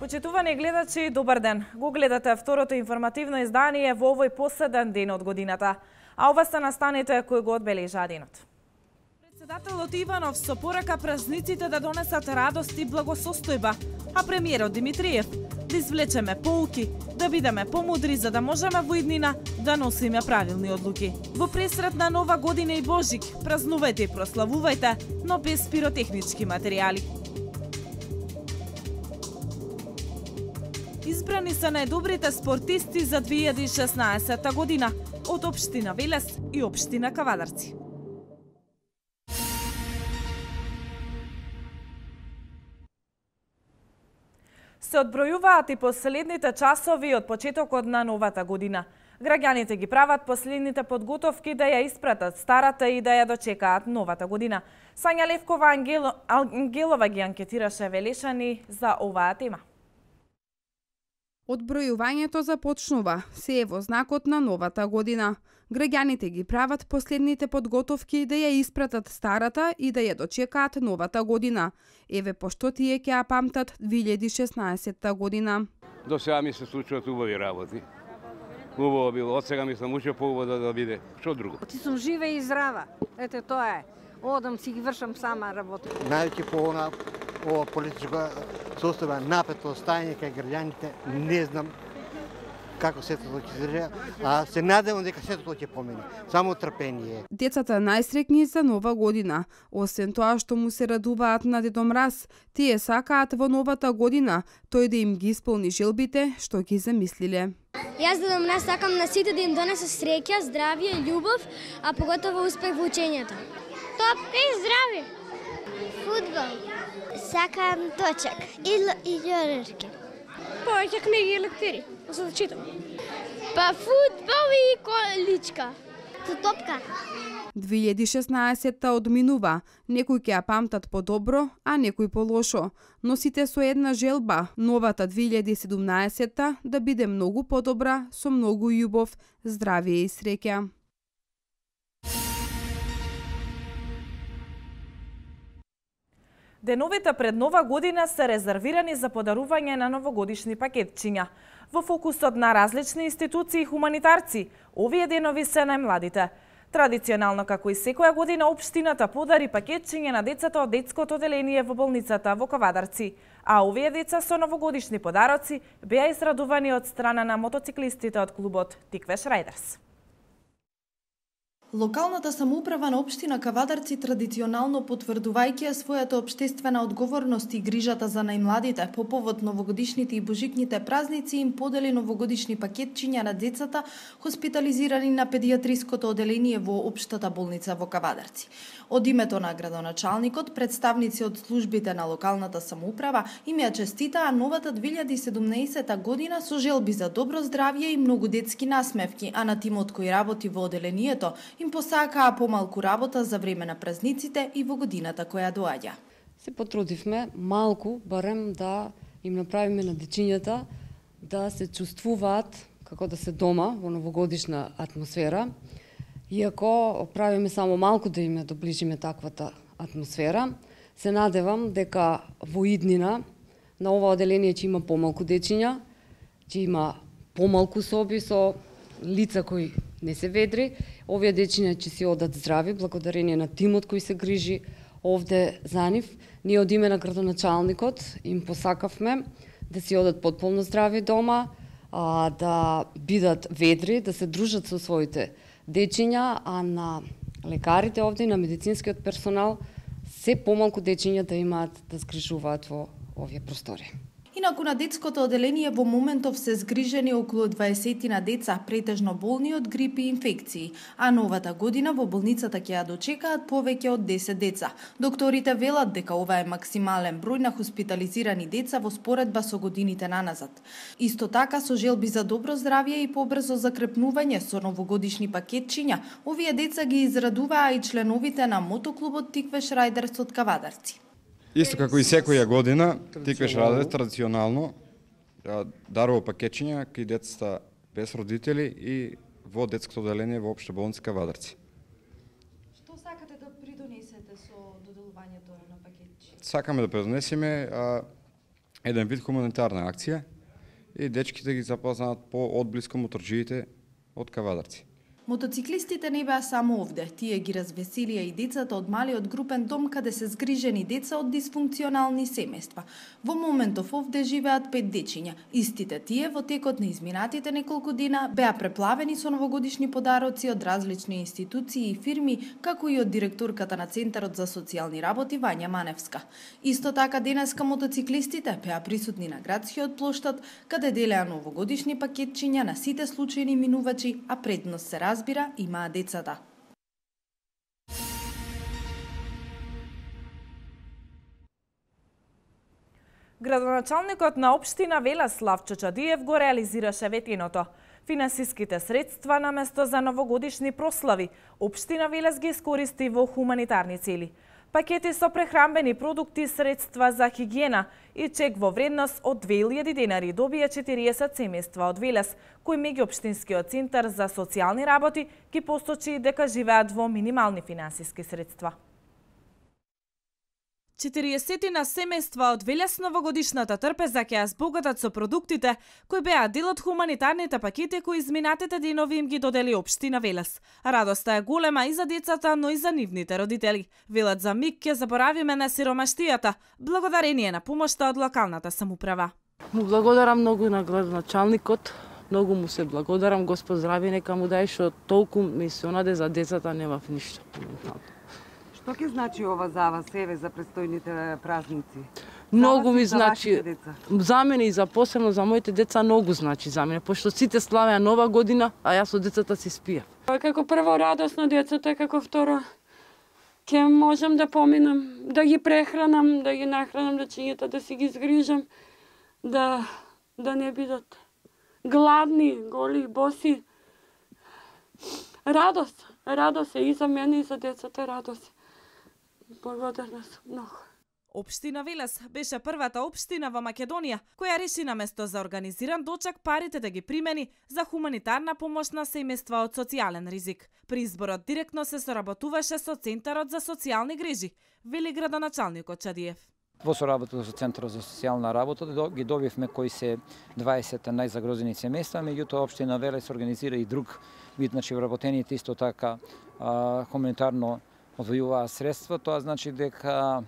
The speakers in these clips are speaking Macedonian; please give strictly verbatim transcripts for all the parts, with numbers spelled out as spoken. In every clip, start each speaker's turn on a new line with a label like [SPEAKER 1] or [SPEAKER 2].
[SPEAKER 1] Почитувани гледачи, добар ден. Го гледате второто информативно издание во овој последен ден од годината. А ова се настаните кои го одбележа денот. Председателот Иванов со порака празниците да донесат радост и благосостојба, а премиерот Димитриев да извлечеме поуки, да бидеме помудри за да можеме во иднина да носиме правилни одлуки. Во пресрет на Нова година и Божик, празнувајте и прославувајте, но без пиротехнички материјали. Избрани се најдобрите спортисти за две илјади и шеснаесетта година од општина Велес и општина Кавадарци. Се одбројуваат и последните часови од почетокот на новата година. Граѓаните ги прават последните подготовки да ја испратат старата и да ја дочекаат новата година. Сања Левкова Ангело... Ангелова ги анкетираше Велешани за оваа тема.
[SPEAKER 2] Одбројувањето започнува, се е во знакот на новата година. Граѓаните ги прават последните подготовки да ја испратат старата и да ја дочекаат новата година. Еве пошто тие ќе ја памтат две илјади и шеснаесетта година.
[SPEAKER 3] До сега ми се случуваат убави работи. Убаво било, од сега ми сам учил поубаво да, да биде. Што друго?
[SPEAKER 4] Ти сум жива и здрава. Ете тоа е. Одам си ги вршам сама работа.
[SPEAKER 5] Најќи по она ова политичко состојба напето стајање кај граѓаните, не знам како сето тоа ќе се држи, а се надевам дека сето тоа ќе помине. Само трпение.
[SPEAKER 2] Децата најсреќни за нова година. Освен тоа што му се радуваат на Дедо Мраз, тие сакаат во новата година тој да им ги исполни желбите што ги замислиле.
[SPEAKER 6] Јас Дедо Мраз сакам на сите да им донесе среќа, здравје, љубов, а поготово успех во учењето. Топка и здравје. Фудбал. Сакам точак и, и љорерки.
[SPEAKER 7] Повеќе книги и лектири, за да читам.
[SPEAKER 6] Па фудбал и количка. Топка.
[SPEAKER 2] две илјади и шеснаесетта одминува, некои ќе ја памтат подобро, а некои полошо. Но сите со една желба, новата две илјади и седумнаесетта да биде многу подобра, со многу љубов, здравје и среќа.
[SPEAKER 1] Деновите пред Нова година се резервирани за подарување на новогодишни пакетчиња. Во фокусот на различни институции и хуманитарци, овие денови се најмладите. Традиционално, како и секоја година, општината подари пакетчиња на децата од детското оделение во болницата во Кавадарци, а овие деца со новогодишни подароци беа израдувани од страна на мотоциклистите од клубот Тиквеш Райдерс.
[SPEAKER 8] Локалната самоуправа на општина Кавадарци традиционално потврдувајќи својата општествена одговорност и грижата за најмладите по повод новогодишните и божикните празници им подели новогодишни пакетчиња на децата хоспитализирани на педиатриското оделение во општата болница во Кавадарци. Од името на градоначалникот, представници од службите на локалната самоуправа им ја честитаа новата две илјади и седумнаесетта година со желби за добро здравје и многу детски насмевки, а на тимот кој работи во оделението им посакаа помалку работа за време на празниците и во годината која доаѓа.
[SPEAKER 9] Се потрудивме малку, барем да им направиме на дечињата да се чувствуваат како да се дома во новогодишна атмосфера. Иако правиме само малку да им доближиме таквата атмосфера, се надевам дека во иднина на ова оделение ќе има помалку дечиња, ќе има помалку соби со лица кои не се ведри. Овие дечиња ќе си одат здрави, благодарение на тимот кој се грижи овде за нив. Ние од име на градоначалникот им посакавме да си одат потполно здрави дома, а, да бидат ведри, да се дружат со своите дечиња, а на лекарите овде и на медицинскиот персонал се помалку дечиња да имаат да згрижуваат во овие простори.
[SPEAKER 8] Инаку на детското оделение во моментов се згрижени околу дваесет деца, претежно болни од грип и инфекции, а новата година во болницата ќе ја дочекаат повеќе од десет деца. Докторите велат дека ова е максимален број на хоспитализирани деца во споредба со годините наназад. Исто така со желби за добро здравје и побрзо закрепнување со новогодишни пакетчиња, овие деца ги израдуваа и членовите на мотоклубот Тиквеш Райдерс од Кавадарци.
[SPEAKER 10] Исто како и секоја година, Тиквеш Райдерс традиционално дарува пакетчиња кај децата без родители и во детското оделение во општа болница Кавадарци.
[SPEAKER 8] Што сакате да придонесете со доделувањето на пакетчиња?
[SPEAKER 10] Сакаме да придонесеме еден вид хуманитарна акција и дечките ги запознаат по одблиско моторџиите од Кавадарци.
[SPEAKER 8] Мотоциклистите не беа само овде, тие ги развеселија и децата од малиот групен дом каде се згрижени деца од дисфункционални семејства. Во моментов овде живеат пет дечиња. Истите тие во текот на изминатите неколку дена беа преплавени со новогодишни подароци од различни институции и фирми, како и од директорката на Центарот за социјални работи Вања Маневска. Исто така денеска мотоциклистите беа присутни на градскиот плоштад, каде делеа новогодишни пакетчиња на сите случајни минувачи, а предност се разбира имаа децата.
[SPEAKER 1] Градоначалникот на општина Велес Славчо Чадиев го реализираше ветеното. Финансиските средства наместо за новогодишни прослави, општина Велес ги искористи во хуманитарни цели. Пакети со прехранбени продукти, средства за хигиена и чек во вредност од две илјади денари добија четириесет семејства од Велес, кои меѓуопштинскиот центар за социјални работи ги посочи дека живеат во минимални финансиски средства. четириесетина семејства од Велес новогодишната трпеза ќе ја збогатат со продуктите кои беа дел од хуманитарните пакети кои изминатите денови им ги додели општина Велес. Радоста е голема и за децата, но и за нивните родители. Велат за миг ќе заборавиме на сиромаштијата, благодарение на помошта од локалната самоуправа.
[SPEAKER 11] Му благодарам многу на градоначалникот, многу му се благодарам, Господ здрави нека му дај, што толку ми се онаде за децата немав ништо.
[SPEAKER 12] Што ќе значи ова за вас, еве, за престојните празници?
[SPEAKER 11] Многу ми значи, за мене и за посебно за моите деца многу значи за мене, пошто сите славеа нова година, а јас со децата си спија.
[SPEAKER 7] Како прво радост на децата, како второ ќе можам да поминам, да ги прехранам, да ги нахранам дечињата, да си ги згрижам, да да не бидат гладни, голи, боси. Радост, радост е и за мене и за децата радост. Благодарна сум многу.
[SPEAKER 1] Општина Велес беше првата општина во Македонија која реши наместо за организиран дочек парите да ги примени за хуманитарна помош на семејства од социјален ризик. При изборот директно се соработуваше со Центарот за социјални грижи, вели градоначалникот Чадиев.
[SPEAKER 13] Во соработа со Центарот за социјална работа ги добивме кои се дваесет најзагрозени семејства, меѓутоа општина Велес организира и друг вид, значи вработените исто така а, хуманитарно одвојуваа средства. Тоа значи дека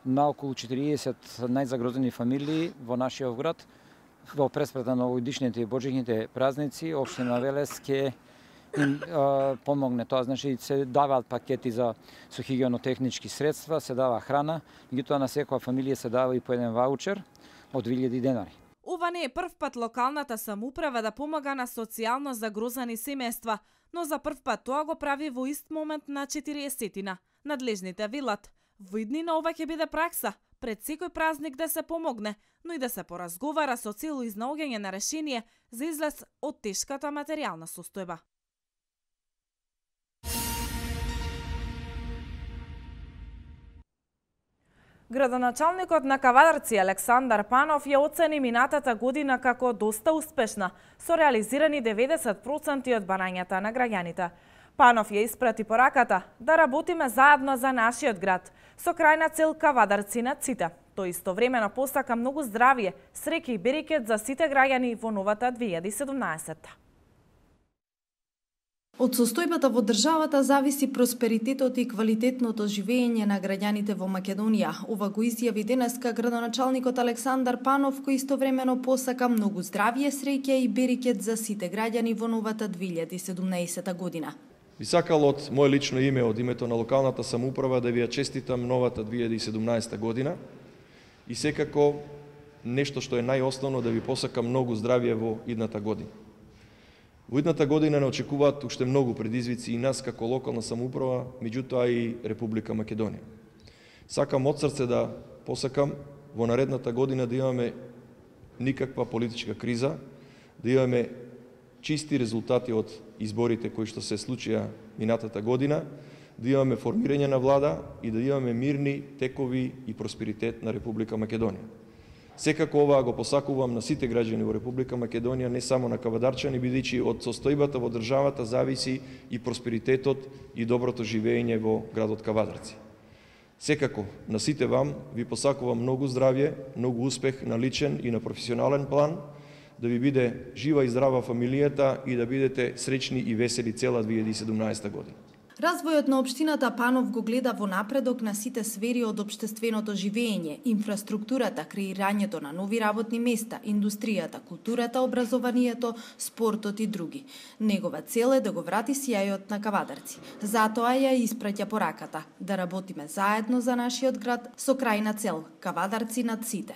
[SPEAKER 13] на околу четириесет најзагрозени фамилии во нашиот град во преспрета на новогодишните и божичните празници општина Велес ќе им а, помогне. Тоа значи се даваат пакети за со хигиенотехнички средства, се дава храна, меѓутоа на секоја фамилија се дава и по еден ваучер од две илјади денари.
[SPEAKER 1] Ова не е прв пат локалната самоуправа да помага на социјално загрозени семејства, но за прв пат тоа го прави во ист момент на четириесетина. Надлежните велат, во иднина ова ќе биде пракса, пред секој празник да се помогне, но и да се поразговара со цел изнаоѓање на решение за излез од тешката материјална состојба. Градоначалникот на Кавадарци Александар Панов ја оцени минатата година како доста успешна, со реализирани деветдесет проценти од барањата на граѓаните. Панов ја испрати пораката да работиме заедно за нашиот град, со крајна цел Кавадарци над сите. Тој истовремено посака многу здравје, среќа и берекет за сите граѓани во новата две илјади и седумнаесетта.
[SPEAKER 8] Од состојбата во државата зависи просперитетот и квалитетното живење на граѓаните во Македонија. Ова го изјави денеска градоначалникот Александар Панов, кој истовремено посака многу здравје, среќа и берекет за сите граѓани во новата две илјади и седумнаесета година.
[SPEAKER 14] Би сакал од моje лично име, од името на локалната самоуправа, да ви ја честитам новата две илјади и седумнаесета година и секако нешто што е најосновно да ви посакам многу здравје во идната година. Во идната година не очекуваат уште многу предизвици и нас како локална самоуправа, меѓутоа и Република Македонија. Сакам од срце да посакам во наредната година да имаме никаква политичка криза, да имаме чисти резултати од изборите кои што се случија минатата година, да имаме формирање на влада и да имаме мирни текови и просперитет на Република Македонија. Секако ова го посакувам на сите граѓани во Република Македонија, не само на кавадарчани, бидејќи од состојбата во државата зависи и просперитетот и доброто живење во градот Кавадарци. Секако, на сите вам ви посакувам многу здравје, многу успех на личен и на професионален план, да ви биде жива и здрава фамилијата и да бидете среќни и весели цела две илјади и седумнаесета година.
[SPEAKER 8] Развојот на општината Панов го гледа во напредок на сите сфери од општественото живење, инфраструктурата, креирањето на нови работни места, индустријата, културата, образованието, спортот и други. Негова цел е да го врати сјајот на Кавадарци. Затоа ја испраќа пораката да работиме заедно за нашиот град со крајна цел Кавадарци над сите.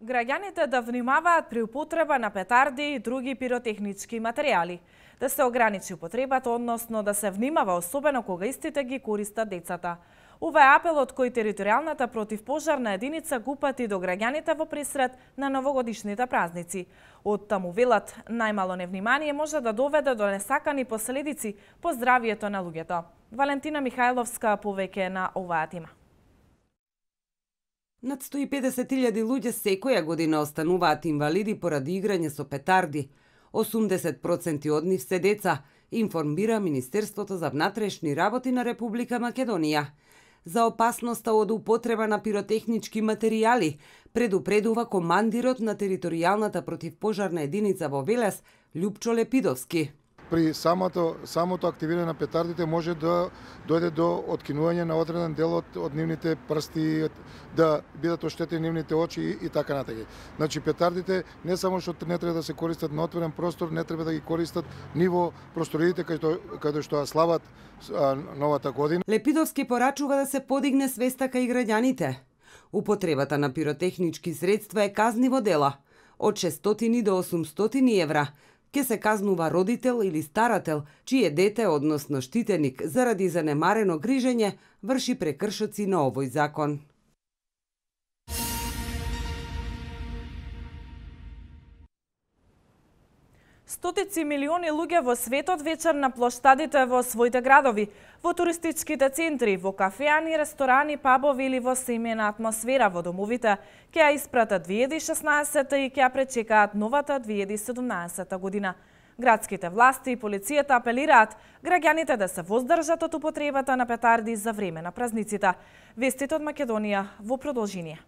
[SPEAKER 1] Граѓаните да внимаваат при употреба на петарди и други пиротехнички материјали, да се ограничи употребата, односно да се внимава особено кога истите ги користат децата. Ова е апелот кој територијалната противпожарна единица го упати до граѓаните во пресред на новогодишните празници. Од таму велат, најмало невнимание може да доведе до несакани последици по здравието на луѓето. Валентина Михајловска повеќе на оваа тема.
[SPEAKER 15] Над сто и педесет илјади луѓе секоја година остануваат инвалиди поради играње со петарди. осумдесет проценти од нив се деца, информира Министерството за внатрешни работи на Република Македонија. За опасноста од употреба на пиротехнички материјали предупредува командирот на територијалната противпожарна единица во Велес, Љупчо Лепидовски.
[SPEAKER 16] При самото, самото активирање на петардите може да дојде до откинување на одреден дел од, од нивните прсти, да бидат оштетени нивните очи и, и така натаму. Значи петардите не само што не треба да се користат на отворен простор, не треба да ги користат ниво просториите каде каде што ја слават а, новата година.
[SPEAKER 15] Лепидовски порачува да се подигне свеста кај граѓаните. Употребата на пиротехнички средства е казниво дела од шестстотини до осумстотини евра. Ке се казнува родител или старател, чие дете, односно штитеник, заради занемарено грижење, врши прекршоци на овој закон.
[SPEAKER 1] Стотици милиони луѓе во светот вечер на плоштадите во своите градови, во туристичките центри, во кафеани, ресторани, пабови или во семејна атмосфера во домовите, ќе ја испратат две илјади и шеснаесета и ќе ја пречекаат новата две илјади и седумнаесета година. Градските власти и полицијата апелираат граѓаните да се воздржат од употребата на петарди за време на празниците. Вестите од Македонија во продолжение.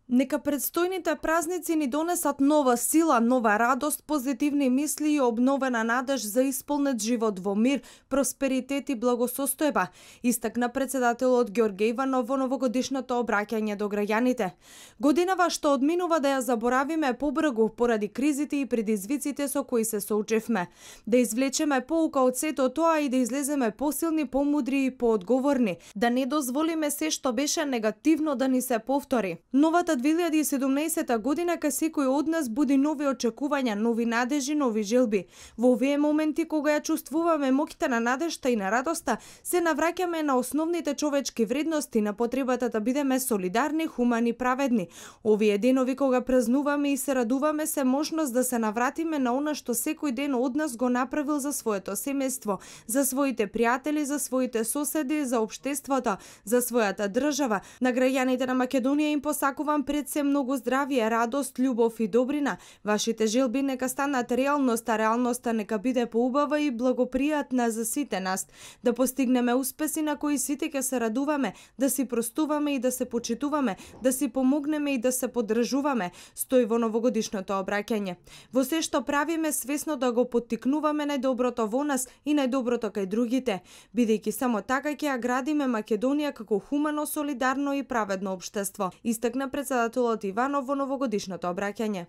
[SPEAKER 8] Нека предстојните празници ни донесат нова сила, нова радост, позитивни мисли и обновена надеж за исполнет живот во мир, просперитет и благосостојба, истакна председателот Ѓорѓе Иванов во новогодишното обраќање до граѓаните. Годинава што одминува да ја заборавиме побрзо поради кризите и предизвиците со кои се соочевме. Да извлечеме поука од сето тоа и да излеземе посилни, помудри и поодговорни, да не дозволиме се што беше негативно да ни се повтори. Новата две илјади и седумнаесета година кај секој од нас буди нови очекувања, нови надежи, нови желби. Во овие моменти кога ја чувствуваме моќта на надежта и на радоста, се навраќаме на основните човечки вредности, на потребата да бидеме солидарни, хумани, праведни. Овие денови кога празнуваме и се радуваме се можност да се навратиме на она што секој ден од нас го направил за своето семејство, за своите пријатели, за своите соседи, за општеството, за својата држава. На граѓаните на Македонија им посакувам пред се многу здравје, радост, љубов и добрина. Вашите желби нека станат реалност, а реалноста нека биде поубава и благопријатна за сите нас. Да постигнеме успеси на кои сите ќе се радуваме, да си простуваме и да се почитуваме, да си помогнеме и да се поддржуваме, стои во новогодишното обраќање. Во се што правиме свесно да го поттикнуваме најдоброто во нас и најдоброто кај другите, бидејќи само така ќе ја градиме Македонија како хумано, солидарно и праведно општество, истакна председателот Иванов во новогодишното обраќање.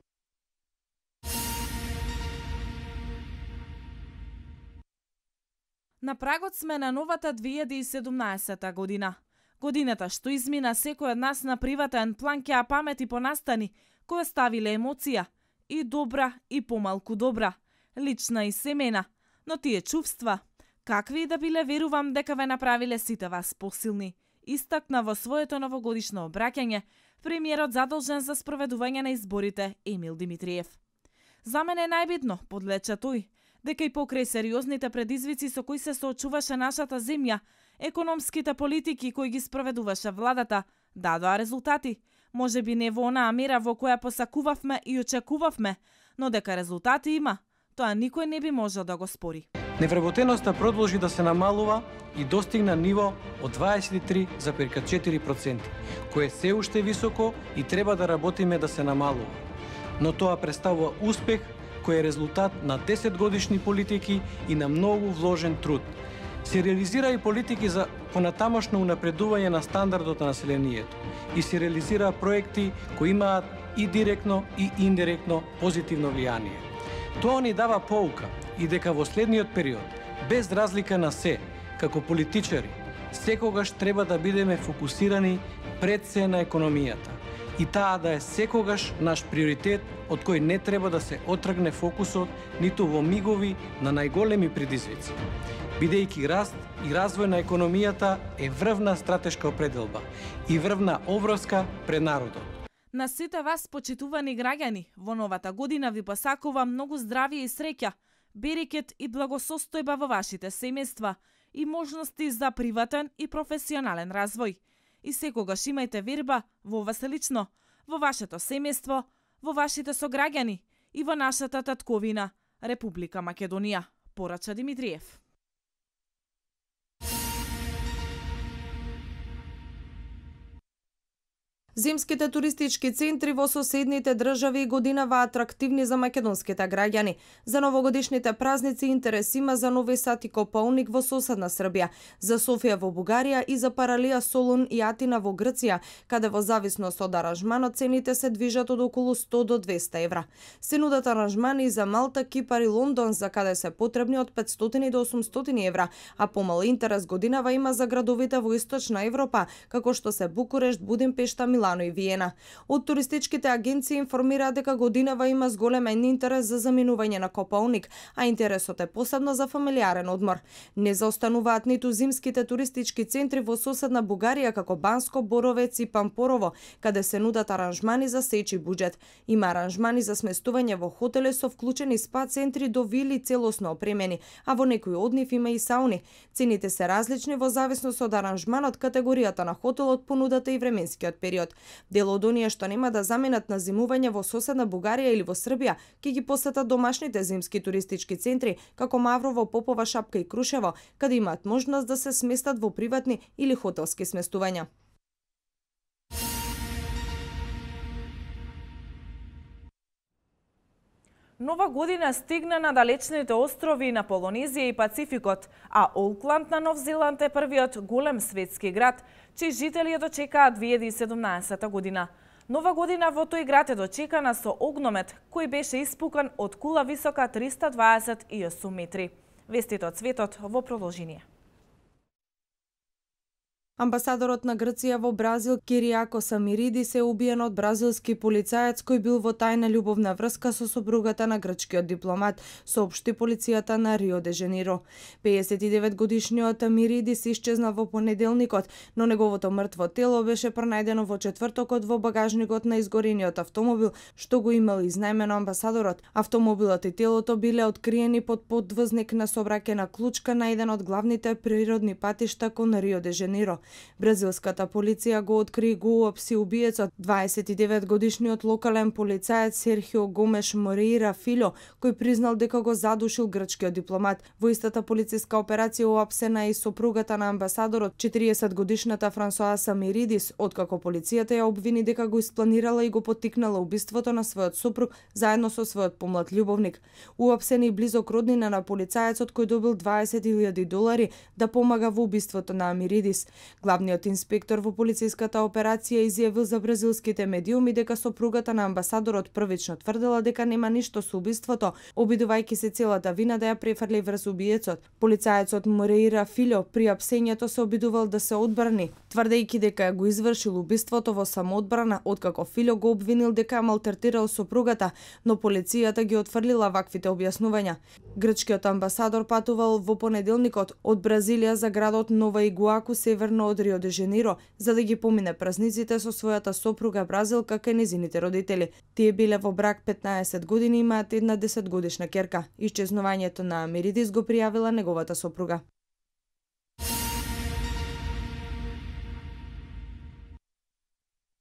[SPEAKER 1] На прагот сме на новата две илјади и седумнаесета година. Годината што измина секој од нас на приватен план ќе ја памети по настани, кој оставиле емоција, и добра и помалку добра, лична и семена, но тие чувства, какви и да биле, верувам дека ве направиле сите вас посилни, истакна во своето новогодишно обраќање премиерот задолжен за спроведување на изборите Емил Димитриев. За мене е најбитно, подлече тој, дека и покрај сериозните предизвици со кои се соочуваше нашата земја, економските политики кои ги спроведуваше владата, дадоа резултати. Може би не во онаа мера во која посакувавме и очекувавме, но дека резултати има, тоа никој не би можел да го спори.
[SPEAKER 17] Невработеноста продолжи да се намалува и достигна ниво од дваесет и три зарез четири проценти, кое е се уште високо и треба да работиме да се намалува. Но тоа представува успех кој е резултат на десет годишни политики и на многу вложен труд. Се реализира и политики за понатамошно унапредување на стандардот на населението и се реализира проекти кои имаат и директно и индиректно позитивно влијание. Тоа ни дава поука и дека во следниот период, без разлика на се, како политичари, секогаш треба да бидеме фокусирани пред се на економијата и таа да е секогаш наш приоритет од кој не треба да се отргне фокусот ниту во мигови на најголеми предизвици. Бидејќи раст и развој на економијата е врвна стратешка определба и врвна обврска пред народот.
[SPEAKER 1] На сите вас, почитувани граѓани, во новата година ви посакувам многу здравје и среќа, берекет и благосостојба во вашите семејства и можности за приватен и професионален развој. И секогаш имајте верба во вас лично, во вашето семејство, во вашите сограѓани и во нашата татковина, Република Македонија, порача Димитриев.
[SPEAKER 8] Зимските туристички центри во соседните држави годинава атрактивни за македонските граѓани. За новогодишните празници интерес има за Нови Сад и Копаоник во соседна Србија, за Софија во Бугарија и за Паралија, Солун и Атина во Грција, каде во зависност од аранжманот цените се движат од околу сто до двесте евра. Се нудат аранжмани и за Малта, Кипар и Лондон, за каде се потребни од петстотини до осумстотини евра, а помал интерес годинава има за градовите во Источна Европа, како што се Букурешт, Будимпешта, Милано и Виена. Од туристичките агенции информираат дека годинава има зголемен интерес за заминување на Копаоник, а интересот е посебно за фамилиарен одмор. Не заостануваат ниту зимските туристички центри во соседна Бугарија како Банско, Боровец и Пампорово, каде се нудат аранжмани за сечи буџет. Има аранжмани за сместување во хотели со вклучени спа центри до вили целосно опремени, а во некои од нив има и сауни. Цените се различни во зависност од аранжманот, категоријата на хотелот, понудата и временскиот период. Дел од оние што нема да заминат на зимување во соседна Бугарија или во Србија, ќе ги посетат домашните зимски туристички центри, како Маврово, Попова, Шапка и Крушево, каде имаат можност да се сместат во приватни или хотелски сместувања.
[SPEAKER 1] Нова година стигна на далечните острови на Полонезија и Пацификот, а Олкланд на Нов Зеланд е првиот голем светски град, чии жители ја дочекаат две илјади и седумнаесета година. Нова година во тој град е дочекана со огномет, кој беше испукан од кула висока триста дваесет и осум метри. Вестите од светот во продолжение.
[SPEAKER 8] Амбасадорот на Грција во Бразил Киријако Самиридис е убиен од бразилски полицаец кој бил во тајна љубовна врска со сопругата на грчкиот дипломат, соопшти полицијата на Рио де Жанеиро. пеесет и девет годишниот Миридис исчезнал во понеделникот, но неговото мртво тело беше пронајдено во четвртокот во багажникот на изгорениот автомобил, што го имал изнајмено амбасадорот. Автомобилот и телото биле откриени под подвозник на сообраќајна клучка на еден од главните природни патишта кон Рио де Жанеиро. Бразилската полиција го откри и го уапси убиецот, дваесет и девет годишниот локален полицаец Серхио Гомеш Мореира Филјо, кој признал дека го задушил грчкиот дипломат. Во истата полициска операција уапсена и сопругата на амбасадорот, четириесет годишната Франсоа Самиридис, откако полицијата ја обвини дека го испланирала и го поттикнала убиството на својот сопруг заедно со својот помлад љубовник. Уапсен и близок роднина на полицаецот кој добил дваесет илјади долари да помага во убиството на Амиридис. Главниот инспектор во полициската операција изјавил за бразилските медиуми дека сопругата на амбасадорот првично тврдела дека нема ништо со убиството, обидувајќи се целата вина да ја префрли врз убиецот. Полицаецот Мореира Филјо при апсењето се обидувал да се одбрани, тврдејќи дека го извршил убиството во самоодбрана, откако Филјо го обвинил дека малтретирал сопругата, но полицијата ги отфрлила ваквите објаснувања. Грчкиот амбасадор патувал во понеделникот од Бразилија за градот Нова Игуаку, северно од Рио де Жанеиро, за да ги помине празниците со својата сопруга бразилка кај незините родители. Тие биле во брак петнаесет години и имаат една десетгодишна ќерка. Исчезнувањето на Амиридис го пријавила неговата сопруга.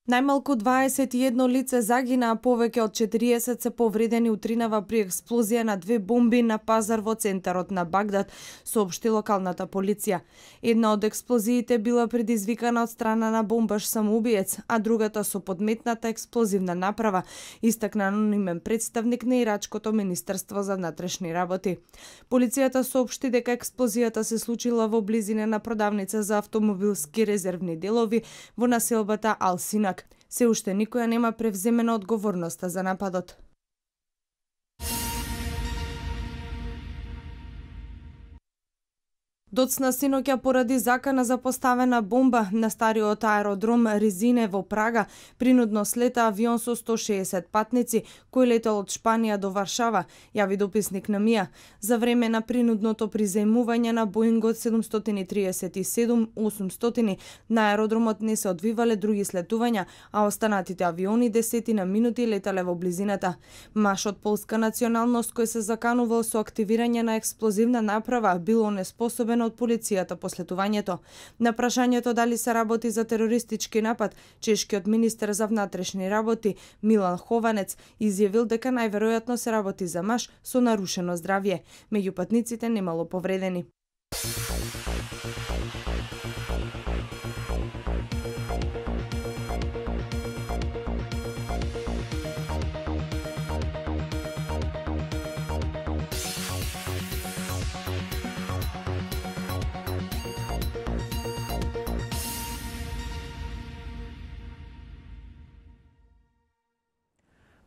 [SPEAKER 8] Најмалку дваесет и едно лице загина, а повеќе од четириесет се повредени утринава при експлозија на две бомби на пазар во центарот на Багдад, соопшти локалната полиција. Една од експлозиите била предизвикана од страна на бомбаш самоубиец, а другата со подметната експлозивна направа, истакна анонимен представник на Ирачкото Министерство за внатрешни работи. Полицијата соопшти дека експлозијата се случила во близина на продавница за автомобилски резервни делови во населбата Ал-Синак. Се уште никоја нема превземена одговорноста за нападот. Доцна синоќа поради закана за поставена бомба на стариот аеродром Ризине во Прага, принудно слета авион со сто шеесет патници кој летел од Шпанија до Варшава, јави дописник на МИА. За време на принудното приземување на Боингот седумстотини триесет и седум осумстотини на аеродромот не се одвивале други слетувања, а останатите авиони десетина минути летале во близината. Маж од полска националност кој се заканувал со активирање на експлозивна направа бил онеспособен од полицијата по слетувањето. На прашањето дали се работи за терористички напад, чешкиот министер за внатрешни работи Милан Хованец изјавил дека најверојатно се работи за маж со нарушено здравје. Меѓу патниците немало повредени.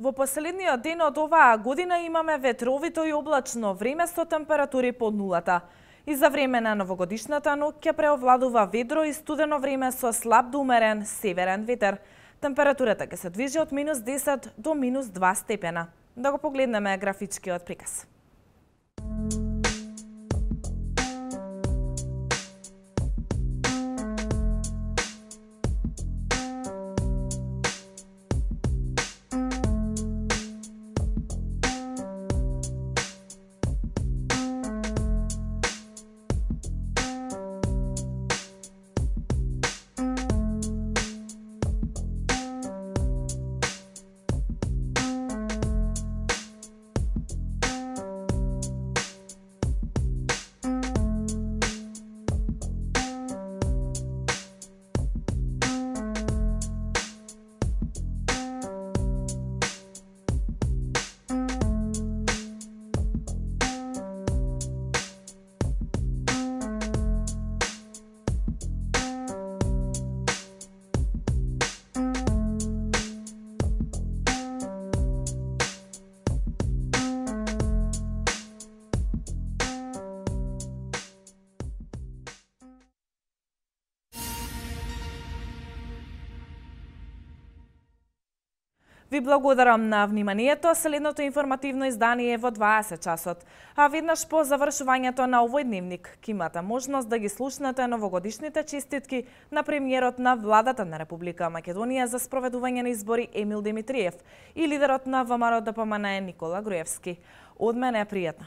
[SPEAKER 1] Во последниот ден од оваа година имаме ветровито и облачно време со температури под нулата. И за време на новогодишната ноќ ќе преовладува ведро и студено време со слаб до умерен северен ветер. Температурата ќе се движи од минус десет до минус два степена. Да го погледнеме графичкиот приказ. Ви благодарам на вниманието. Следното информативно издание е во дваесет часот. А веднаш по завршувањето на овој дневник, ќе имате можност да ги слушнете новогодишните честитки на премиерот на владата на Република Македонија за спроведување на избори Емил Димитриев и лидерот на ВМРО ДПМН Никола Груевски. Од мене е пријатно.